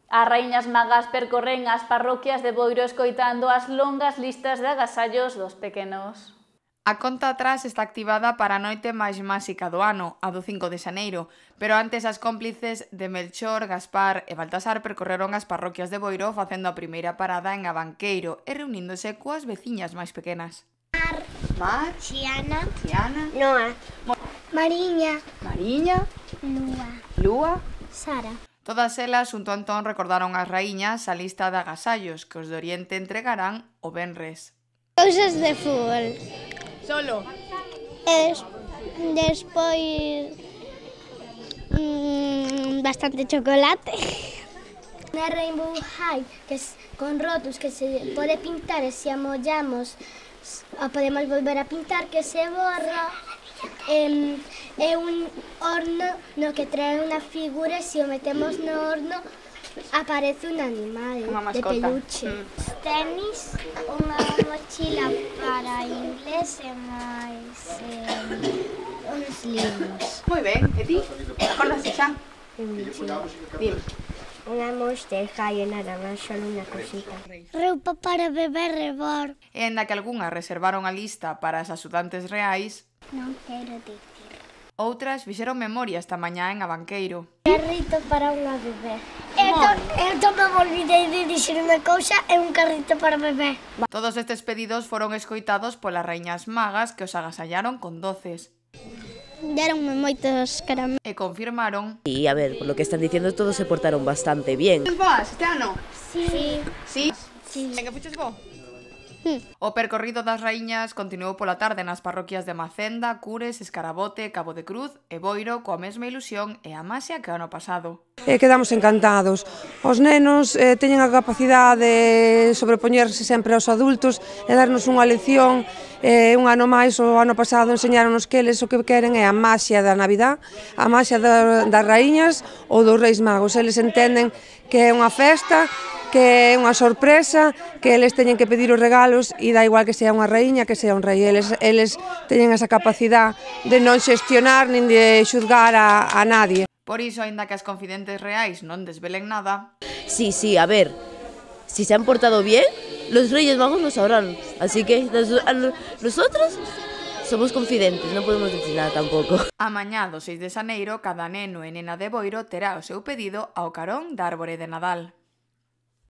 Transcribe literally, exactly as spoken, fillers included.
As raíñas magas percorren as parroquias de Boiro escoitando as longas listas de agasallos dos pequenos. A conta atrás está activada para a noite máis máxica do ano, a do cinco de xaneiro, pero antes as cómplices de Melchor, Gaspar e Baltasar percorreron as parroquias de Boiro facendo a primeira parada en Abanqueiro e reuníndose coas veciñas máis pequenas. Mar, Mar, Xiana, Xiana, Noa, Mariña, Mariña, Lúa, Lúa. Sara. Todas elas, xunto a Antón, recordaron ás raíñas a lista de agasallos que os de Oriente entregarán o venres. Cousas de fútbol. Solo. Es, despois mmm, bastante chocolate. Una Rainbow High que es con rotos que se pode pintar e se amollamos podemos volver a pintar, que se borra. É, é un horno no que trae unha figura e se o metemos no horno aparece un animal de peluche. Mm. Tenis, unha mochila para inglés e máis eh, uns libros. Moi ben, e ti? Acordase xa? Dime. Unha Monster High en naranja, só unha cosita. Roupa para beber rebor. E ainda que algunhas reservaron a lista para as axudantes reais, Non quero dicir. outras fixeron memoria esta mañá en Abanqueiro. Carrito para unha bebé. Eu, to, eu tamén me olvidei de dixer unha cousa, é un carrito para bebé. Todos estes pedidos foron escoitados polas raíñas magas que os agasallaron con doces. Deronme moitos caramelos. E confirmaron... Y a ver, por lo que están diciendo todos se portaron bastante bien. Vas, este ano? Sí. Sí? Sí. En que fuches vos? O percorrido das raíñas continuou pola tarde nas parroquias de Macenda, Cures, Escarabote, Cabo de Cruz e Boiro coa mesma ilusión e a maxia que o ano pasado. E quedamos encantados. Os nenos eh, teñen a capacidade de sobrepoñerse sempre aos adultos e darnos unha lección. Eh, un ano máis, o ano pasado, enseñaronos que eles o que queren é a maxia da Navidad, a maxia da, das raíñas ou dos Reis Magos. Eles entenden que é unha festa, que é unha sorpresa, que eles teñen que pedir os regalos e dá igual que sea unha raíña, que sea un rei. Eles, eles teñen esa capacidade de non xestionar nin de xuzgar a, a nadie. Por iso, aínda que as confidentes reais non desvelen nada... Sí, sí, a ver, si se han portado bien, los Reyes Magos lo sabrán. Así que nosotros somos confidentes, non podemos decir nada tampouco. A mañá do seis de xaneiro, cada neno e nena de Boiro terá o seu pedido ao carón da árbore de Nadal.